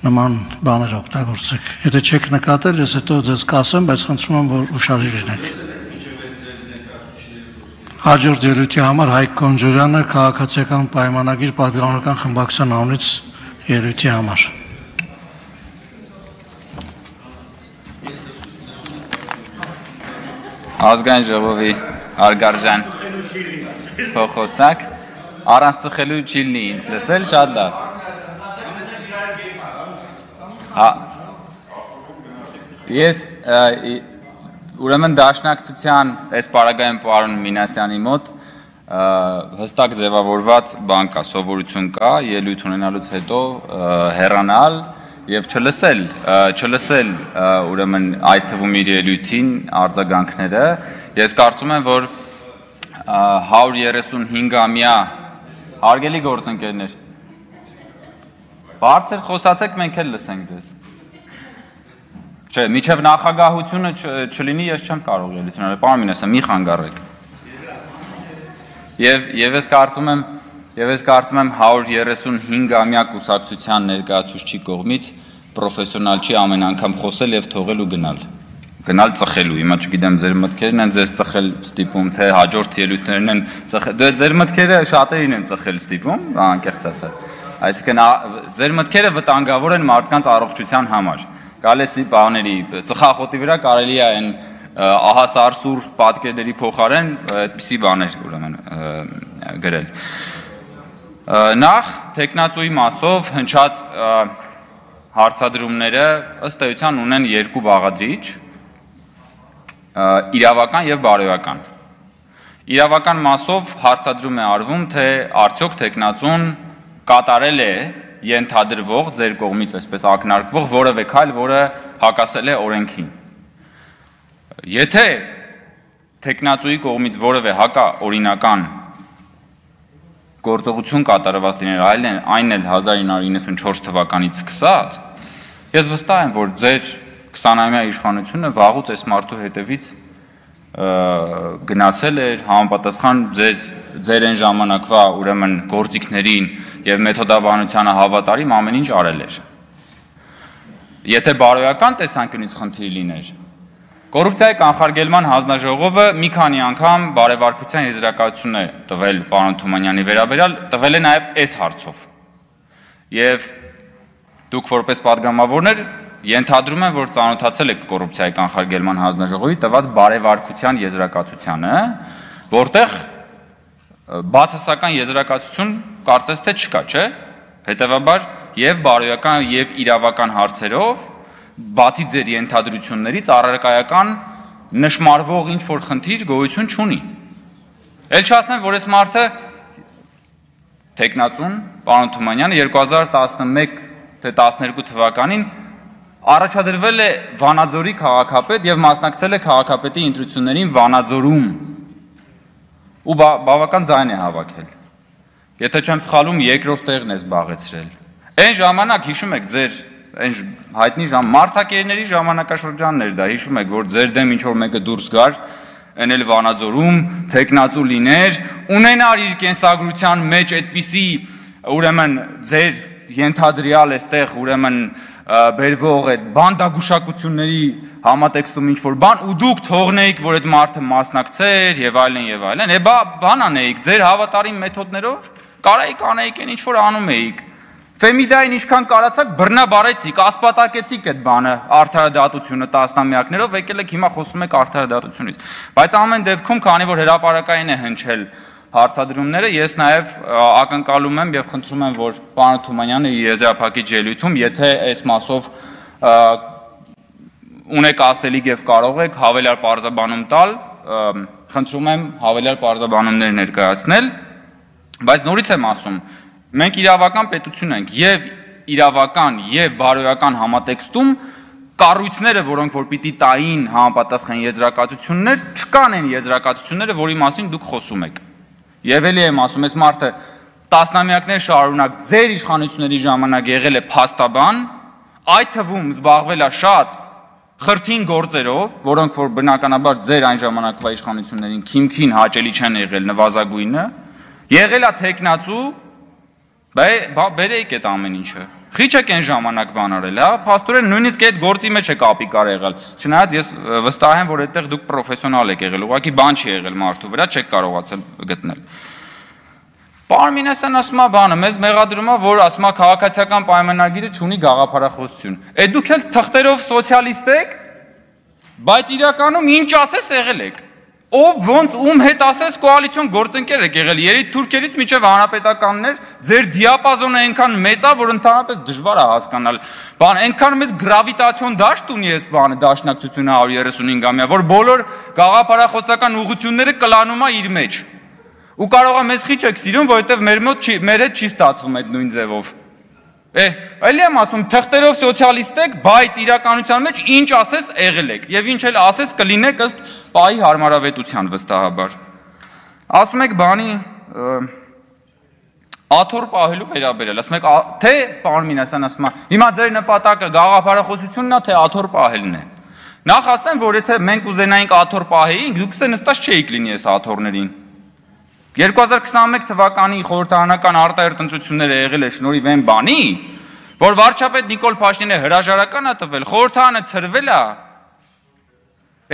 նման բաներ օգտագործեք։ Եթե չեք նկատել, ես հետո ձեզ կասեմ, բայց խնդրում եմ, որ ուշադիր լինեք։ Հաջորդ ելույթի համար Հայկ Կոնջորյանը քաղաքացիական պայմանագիր պատգամավորական խմբակցության անունից ելույթի համար։ Ազգային ժողովի հարգարժան փոխոսնակ, առանց ծխելու չի լինի ինձ լսել, շատ լավ։ Ես ուրեմն դաշնակցության այս պարագայում պարոն Մինասյանի մոտ հստակ ձևավորված բան կա, սովորություն կա, ելույթ ունենալուց հետո հեռանալ եւ չլսել ուրեմն այդ թվում իր ելույթին արձագանքները։ Ես կարծում եմ, որ 135-ամյա հարգելի գործընկերներ, բարձր խոսացեք, մենք էլ լսենք ձեզ։ Չէ, միջև նախագահությունը չլինի, ես չեմ կարող ելույթ ունենալ, պարոն Մինասյան, մի խանգարեք։ Եվ ես կարծում եմ 135-ամյա կուսակցության ներկայացուցչի կողմից պրոֆեսիոնալ չի ամեն անգամ խոսել եւ թողել ու գնալ ծխելու։ Հիմա չգիտեմ ձեր մտքերն են ձեզ ծխել ստիպում, թե հաջորդ ելույթներն են ծխել։ Ձեր մտքերը շատերին են ծխել ստիպում, անկեղծ ասած։ Այսինքն ձեր մտքերը վտանգավոր են մարդկանց առողջության համար։ Գալեսի բաների ծխախոտի վրա կարելի է այն ահասարսուր պատկերների փոխարեն այդպիսի բաներ ուրեմն գրել։ Նախ տեխնացուի մասով հնչած հարցադրումները ըստ էության ունեն երկու բաղադրիչ՝ իրավական եւ բարոյական։ Իրավական մասով հարցադրում է արվում, թե արդյոք տեխնացուն կատարել է ենթադրվող ձեր կողմից այսպես ակնարկվող որևէ քայլ, որը հակասել է օրենքին։ Եթե տեխնացուի կողմից որևէ հակաօրինական գործողություն կատարված լիներ, այն էլ 1994 թվականից սկսած, ես վստահ եմ, որ ձեր 20-ամյա իշխանությունը վաղուց այս մարդու հետևից գնացել էր, համապատասխան ձեր այն ժամանակվա ուրեմն գործիքներին եւ մեթոդաբանությանը հավատարիմ ամեն ինչ արել էր։ Եթե բարոյական տեսանկյունից խնդիր լիներ, կոռուպցիայի կանխարգելման հանձնաժողովը մի քանի անգամ բարեվարկության եզրակացություն է տվել պարոն Թումանյանի վերաբերյալ, տվել է նաեւ այս հարցով։ Եվ դուք որպես падգամավորներ ենթադրում եմ, որ ծանոթացել եք կոռուպցիայի կանխարգելման հանձնաժողովի տված բարեվարկության եզրակացությանը, որտեղ բացասական եզրակացություն կարծես թե չկա, չէ՞։ Հետևաբար եւ բարոյական եւ իրավական հարցերով բացի ձեր ենթադրություններից առարկայական նշмарվող ինչ որ խնդիր գոյություն չունի։ Էլ չասեմ, որ այս մարդը տեխնացուն պարոն Թումանյանը 2011 թե 12 թվականին առաջադրվել է Վանաձորի քաղաքապետ եւ մասնակցել է քաղաքապետի ընտրություններին Վանաձորում ու բավական ձայն է հավաքել։ Եթե չեմ սխալվում, երկրորդ տեղն է զբաղեցրել։ Այն ժամանակ հիշում եք ձեր այն հայտնի մարտակերների ժամանակաշրջանն էր դա, հիշում եք, որ ձեր դեմ ինչ որ մեկը դուրս գար, այն էլ Վանաձորում, տեխնացու լիներ, ունենար իր կենսագրության մեջ այդպիսի ուրեմն ձեր ենթադրյալ էստեղ ուրեմն բերվող այդ բանդագուշակությունների համատեքստում ինչ որ բան ու դուք թողնեիք, որ այդ մարդը մասնակցեր եւ այլն, բան անեիք, ձեր հավատարիմ մեթոդներով կարայիք անեիք այն ինչ որ անում էիք։ Ֆեմիդային ինչքան կարացաք բռնաբարեցիք, ասպատակեցիք այդ բանը, արդարադատությունը տասնամյակներով, եկել եք հիմա խոսում եք արդարադատությունից։ Բայց ամեն դեպքում, քանի որ հրապարակային է հնչել հարցադրումները, ես նաև ակնկալում եմ եւ խնդրում եմ, որ պարոն Թումանյանը իր եզրափակիչ ելույթում, եթե այս մասով ունեք ասելիք եւ կարող եք հավելյալ պարզաբանում տալ, խնդրում եմ հավելյալ պարզաբանումներ ներկայացնել, բայց նորից եմ ասում, մենք իրավական պետություն ենք եւ իրավական եւ բարոյական համատեքստում կառույցները, որոնք որ պիտի տային համապատասխան եզրակացություններ, չկան այն եզրակացությունները, որի մասին դուք խոսում եք։ Եվ էլի եմ ասում, այս մարդը տասնամյակներ շարունակ ձեր իշխանությունների ժամանակ եղել է փաստաբան, այդ թվում զբաղվել է շատ խրթին գործերով, որոնք որ բնականաբար ձեր այն ժամանակվա իշխանություններին քիմքին հաճելի չեն եղել նվազագույնը, եղել է տեխնացու, բերեիք այդ ամեն ինչը, Խիչ եք այն ժամանակ բան արել, հա, փաստորեն նույնիսկ այդ գործի մեջ եք ապիկար եղել։ Չնայած ես վստահ եմ, որ այդտեղ դուք պրոֆեսիոնալ եք եղել, ուղղակի բան չի եղել մարդու վրա, չեք կարողացել գտնել։ Պարոն Մինասյան ասում է բանը, մեզ մեղադրում է, որ ասում է քաղաքացիական պայմանագիրը չունի գաղափարախոսություն։ Այդ դուք էլ թղթերով սոցիալիստ եք, բայց իրականում ինչ ասես եղել եք։ Ով ոնց ում հետ ասես կոալիցիոն գործընկեր եք եղել, երեք թուրքերից մինչև հանրապետականներ, ձեր դիապազոնը այնքան մեծ է, որ ընդհանրապես դժվար է հասկանալ։ Բան, այնքան մեծ գրավիտացիոն դաշտ ունի այս բանը դաշնակցությունը 135-ամյա, որ բոլոր գաղափարախոսական ուղղությունները կլանում է իր մեջ։ Ու կարող է մեզ խիչ եք սիրում, որովհետև մեր հետ չի ստացվում այդ նույն ձևով։ Էլի եմ ասում, թղթերով սոցիալիստ եք, բայց իրականության մեջ ինչ ասես եղել եք, եւ ինչ էլ ասես կլինեք ըստ պահի հարմարավետության վստահաբար։ Ասում եք բանի աթոռ պահելու վերաբերել, ասում եք թե պարոն Մինասյան ասում է, հիմա ձեր նպատակը գաղափարախոսությունն է, թե աթոռ պահելն է։ Նախ ասեմ, որ եթե մենք ուզենայինք աթոռ պահեինք, դուք նստած չէիք լինի այս աթոռներին։ 2021 թվականի խորհրդարանական արտահերթ ընտրությունները եղել է շնորհիվ այն բանի, որ վարչապետ Նիկոլ Փաշինյանը հրաժարական է տվել, խորհրդարանը ցրվել է,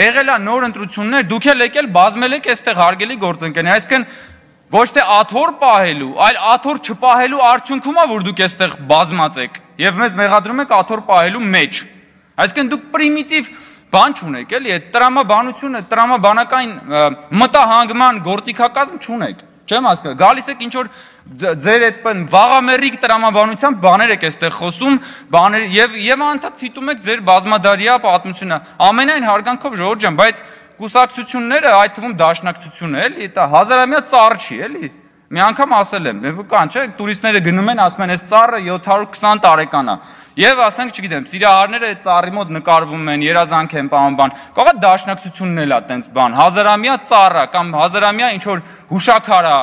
եղել է նոր ընտրություններ, դուք էլ եկել բազմել եք այստեղ հարգելի գործընկերներ, այսինքն ոչ թե աթոռ պահելու, այլ աթոռ չպահելու արդյունքում է, որ դուք այստեղ բազմած եք եւ մեզ մեղադրում եք աթոռ պահելու մեջ։ Այսինքն դուք պրիմիտիվ բան չունեք, էլի, այդ տրամաբանությունը, տրամաբանական մտահանգման գործիքակազմ չունեք, չեմ հասկանում, գալիս եք ինչ-որ ձեր այդ վաղամերիկ տրամաբանությամբ բաներ եք այստեղ խոսում, բաներ եւ անդադ ցիտում եք ձեր բազմադարյա պատմությունը, ամենայն հարգանքով ժողովուրդ ջան, բայց կուսակցությունները, այդ թվում դաշնակցությունը, էլի, դա հազարամյա ծառ չի, էլի, մի անգամ ասել եմ, կան, չէ, տուրիստները գնում են, ասում են, այս ծառը 720 տարեկան է։ Եվ ասենք, չգիտեմ, սիրահարները այդ ծառի մոտ նկարվում են, երազանք են, բան, կարող է դաշնակցությունն էլ է տենց բան, հազարամյա ծառա կամ հազարամյա ինչ-որ հուշաքար է,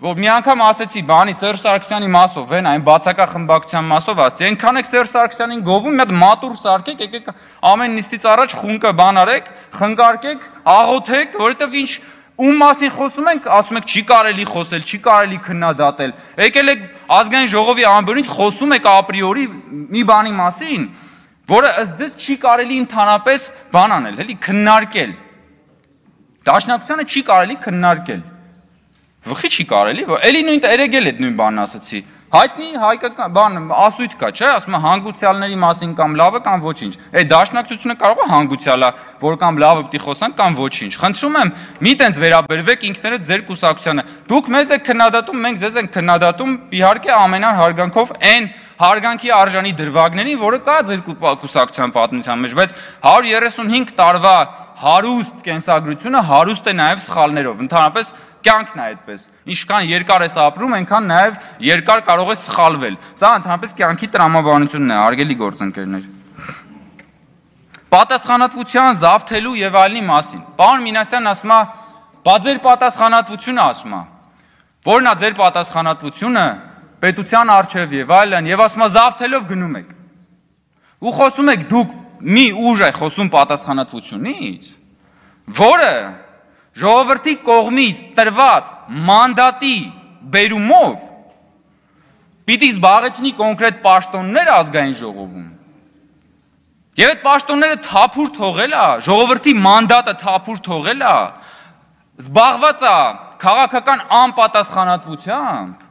որ մի անգամ ասեցի, բանի Սերժ Սարգսյանի մասով, այն բացակա խմբակցության մասով ասեցի, այնքան եք Սերժ Սարգսյանին գովում, մի հատ մատուր սարքեք, եկեք ամեն նիստից առաջ խունկը բան արեք, խնկարկեք, աղոթեք, որովհետև ինչ ում մասին խոսում ենք, ասում եք չի կարելի խոսել, չի կարելի քննադատել։ Եկել եք ազգային ժողովի ամբողջից խոսում եք ապրիորի մի բանի մասին, որը ըստ ձեզ չի կարելի ընդհանրապես բան անել, էլի քննարկել։ Դաշնակցությանը չի կարելի քննարկել։ Վխի չի կարելի, էլի նույն երեգել այդ նույն բանն ասացի։ Հայտնի հայկական բան ասույթ կա, չէ, ասում է հանգուցյալների մասին կամ լավը կամ ոչինչ։ Այդ դաշնակցությունը կարող է հանգուցյալա, որ կամ լավը պիտի խոսանք կամ ոչինչ։ Խնդրում եմ, մի տենց վերաբերվեք ինքներդ ձեր կուսակցությանը։ Դուք մեզ եք քննադատում, մենք ձեզ ենք քննադատում, իհարկե ամենայն հարգանքով այն հարգանքի արժանի դրվագներին, որը կա ձեր կուսակցության պատմության մեջ, բայց 135 տարվա հարուստ կենսագրությունը հարուստ է նաև սխալներով, ընդհանրապես կյանքն է այդպես, ինչքան երկար ես ապրում, այնքան նաև երկար կարող է սխալվել, սա ընդհանրապես կյանքի տրամաբանությունն է, հարգելի գործընկերներ։ Պատասխանատվության զավթելու եւ այլնի մասին, պարոն Մինասյանն ասում է, բա ձեր պատասխանատվությունը ասում է, որն է ձեր պատասխանատվությունը պետության առջև եւ այլն, եւ ասում է զավթելով գնում եք։ Ու խոսում եք դուք մի ուժ է խոսում պատասխանատվությունից, որը ժողովրդի կողմից տրված մանդատի բերումով պիտի զբաղեցնի կոնկրետ պաշտոններ ազգային ժողովում։ Եվ այդ պաշտոնները թափուր թողել է, ժողովրդի մանդատը թափուր թողել է, զբաղված է քաղաքական անպատասխանատվությամբ։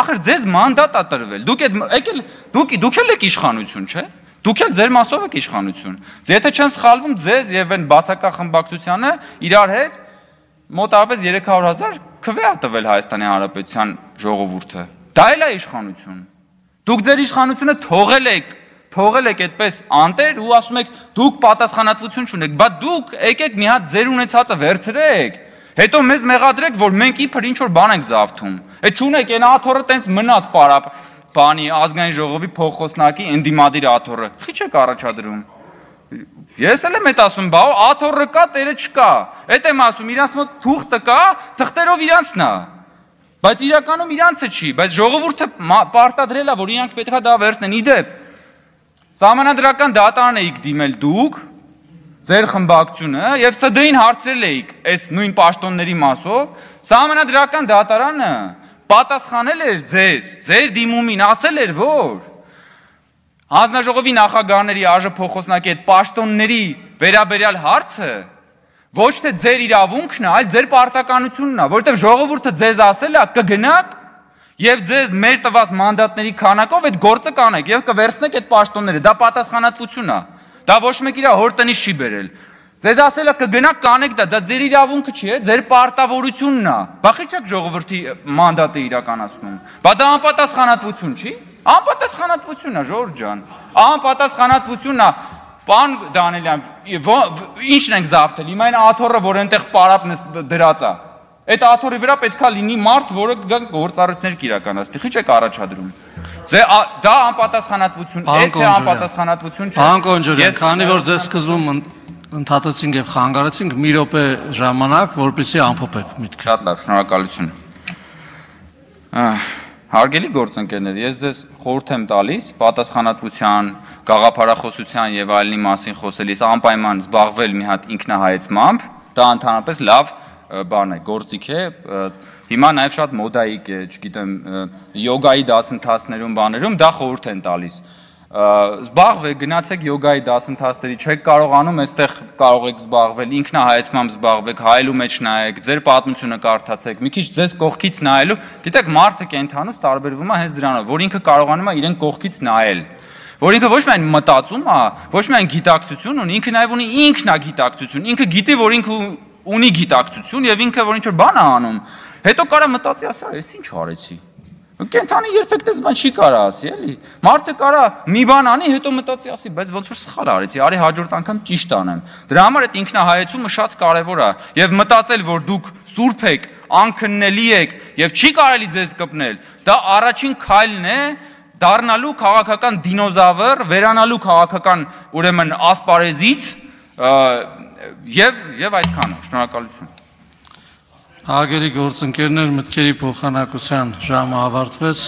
Ախր ձեզ մանդատ է տրվել, դուք էլ եք իշխանություն, չէ՞։ Դուք էլ ձեր մասով եք իշխանություն։ Եթե չեմ սխալվում, ձեզ եւ այն բացակա խմբակցությանը իրար հետ մոտավորապես 300,000 քվե է տվել Հայաստանի Հանրապետության ժողովուրդը։ Դա էլ է իշխանություն։ Դուք ձեր իշխանությունը թողել եք այդպես անտեր ու ասում եք դուք պատասխանատվություն չունեք, բա դուք եկեք մի հատ ձեր ունեցածը վերցրեք, հետո մեզ մեղադրեք, որ մենք իբր ինչ որ բան ենք զավթում։ Այդ չունեք, այն աթոռը տենց մնաց պարապ բանի ազգային ժողովի փոխոսնակի ընդդիմադիր աթոռը, խիչ եք առաջադրում։ Ես էլ եմ այդ ասում, բա աթոռը կա, տերը չկա։ Այդ եմ ասում, իրանց մոտ թուղթը կա, թղթերով իրանցն է։ Բայց իրականում իրանցը չի, բայց ժողովուրդը պարտադրել է, որ իրանք պետք է դա վերցնեն։ Իդեպ, Սահմանադրական դատարան էիք դիմել դուք, ձեր խմբակցությունը, եւ ՍԴ-ին հարցրել էիք այս նույն պաշտոնների մասով, Սահմանադրական դատարանը պատասխանել էր ձեր դիմումին, ասել էր, որ հանձնաժողովի նախագահների ԱԺ փոխոսնակի այդ պաշտոնների վերաբերյալ հարցը ոչ թե ձեր իրավունքն է, այլ ձեր պարտականությունն է, որովհետև ժողովուրդը ձեզ ասել է կգնաք եւ ձեզ մեր տված մանդատների քանակով այդ գործը կանեք եւ կվերցնեք այդ պաշտոնները, դա պատասխանատվություն է, դա ոչ մեկ իր հոր տնից չի բերել, ձեզ ասել է կգնաք կանեք դա ձեր իրավունքը չի, ձեր պարտավորությունն է, բախի չեք ժողովրդի մանդատը իրականացնում, բա դա անպատասխանատվություն չի, անպատասխանատվություն է ժողովուրդ ջան, անպատասխանատվություն է, Պան Դանիելյան, ինչն ենք զավթել, հիմա այն աթոռը, որ այնտեղ պարապն դրած է, այդ աթոռի վրա պետք է լինի մարդ, որը գործառույթներ կիրականացնի, խիչ եք առաջադրում։ Դա անպատասխանատվություն, եթե անպատասխանատվություն չէ։ Պարոն Կոնջորյան, քանի որ ձեզ սկզբում ընդհատեցինք եւ խանգարեցինք, մի րոպե ժամանակ, որպեսզի ամփոփեք միտքը։ Շատ լավ, շնորհակալություն։ Հարգելի գործընկերներ, ես ձեզ խորհուրդ եմ տալիս պատասխանատվության, գաղափարախոսության եւ այլնի մասին խոսելիս անպայման զբաղվել մի հատ ինքնահայեցմամբ, դա ընդհանրապես լավ բան է, գործիք է, հիմա նաեւ շատ մոդայիկ է, չգիտեմ, յոգայի դասընթացներում, բաներում դա խորհուրդ են տալիս։ Զբաղվեք, գնացեք յոգայի դասընթացների, չեք կարողանում, այստեղ կարող եք զբաղվել, ինքնահայեցմամբ զբաղվեք, հայելու մեջ նայեք, ձեր պատմությունը կարդացեք, մի քիչ ձեզ կողքից նայելու, գիտեք, մարդը կենթանուց տարբերվում է հենց դրանով, որ ինքը կարողանում է իրեն կողքից նայել, որ ինքը ոչ միայն մտածում է, ոչ միայն գիտակցություն ունի, ինքը նաև ունի ինքնագիտակցություն, ինքը գիտի, որ ինքը ունի գիտակցություն եւ ինքը որ ինչ-որ բան է անում, հետո կարա մտածի, ասա, ես ինչ արեցի։ Կենթանի երբեք դες բան չի կարա ասի, էլի։ Մարդը կարա մի բան անի, հետո մտածի ասի, բայց ոնց որ սխալ արեցի, արի հաջորդ անգամ ճիշտ անեմ։ Դրա համար այդ ինքնահայեցումը շատ կարևոր է եւ մտածել, որ դուք սուրբ եք, անքննելի եք եւ չի կարելի ձեզ կպնել, դա առաջին քայլն է դառնալու քաղաքական դինոզավր, վերանալու քաղաքական ուրեմն ասպարեզից եւ այդքանը։ Շնորհակալություն։ Հարգելի գործընկերներ, մտքերի փոխանակության ժամը ավարտվեց,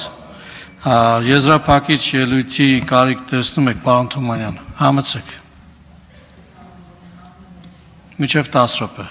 եզրափակիչ ելույթի կարիք տեսնում եք, պարոն Թումանյան, համեցեք, մինչև 10 րոպե։